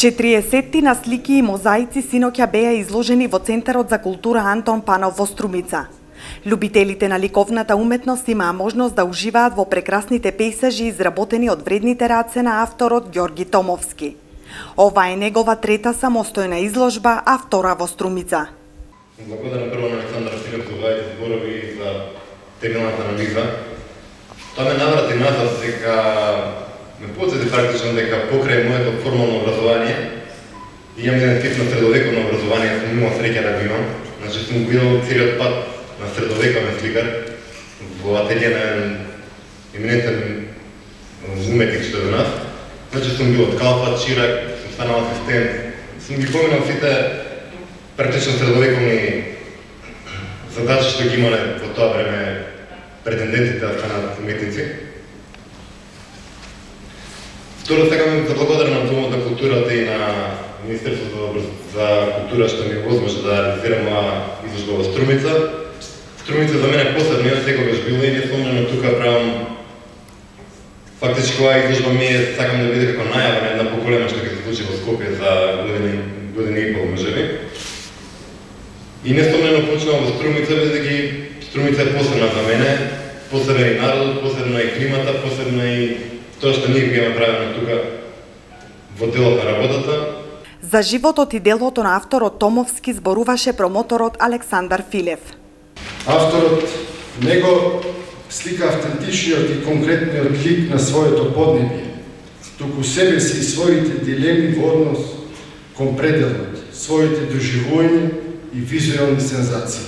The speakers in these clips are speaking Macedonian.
40 слики и мозаици синоќа беа изложени во Центарот за култура Антон Панов во Струмица. Љубителите на ликовната уметност имаа можност да уживаат во прекрасните пејзажи изработени од вредните раце на авторот Ѓорги Томовски. Ова е негова трета самостојна изложба, а втора во Струмица. Благодарам прво на Александар Филип за овие зборови и за темелната анализа. Тоа ме наврати назад дека ме подсети практично дека покрај моето формално образование имам еден тип на средовековно образование, сум имал среќа да го имам. Значи сум го идел целиот пат на средовековен сликар во ателие на еминентен уметник што е до нас. Значи сум бил од Калфа, Чирак, сум станал асистент, сум ги поминал сите практично средовековни задачи што ги имале во тоа време претендентите да станат уметници. Второ, сакам да благодарам на Домот на културата и на Министерството за култура што ми возможи да реализирам оваа изложба во Струмица. Струмица за мене посебно, јас секогаш била и несломljeno тука правам. Фактички оваа изложба ми е, сакам да биде како најава на една поколема што ќе се случи во Скопје за година и пол, можеби. И несломljeno почнувам во Струмица, бидејќи Струмица е посебна за мене, посебен и народот, посебна и климата, посебна и тоа што ние го направено тука во делот на работата. За животот и делото на авторот Томовски зборуваше промоторот Александар Филев. Авторот него слика автентичниот и конкретниот лик на своето поднебие, туку себе си и своите дилеми во однос кон пределот, своите доживувања и визуелни сензации.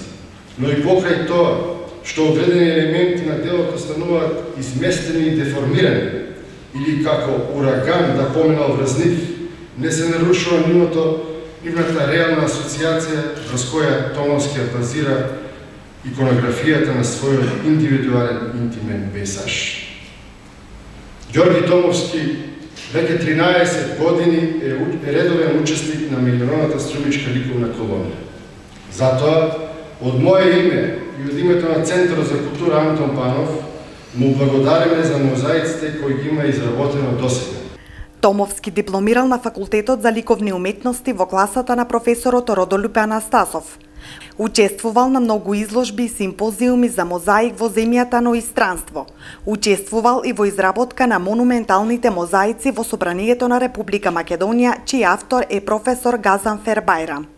Но и покрај тоа, што одредени елементи на делото стануваат изместени и деформирани, или како ураган да поминал врз нив, не се нарушува нивната реална асоциација врз која Томовски базира иконографијата на својот индивидуален интимен пейзаж. Ѓорги Томовски веќе 13 години е редовен учесник на меѓународната струмичка ликовна колонија. Затоа, од моје име и од името на Центарот за култура Антон Панов, му благодариме за мозаиците кои ги има изработено досега. Томовски дипломирал на Факултетот за ликовни уметности во класата на професорот Родолюбе Анастасов. Учествувал на многу изложби и симпозиуми за мозаик во земјата, но и странство. Учествувал и во изработка на монументалните мозаици во Собранието на Република Македонија, чиј автор е професор Газанфер Бајрам.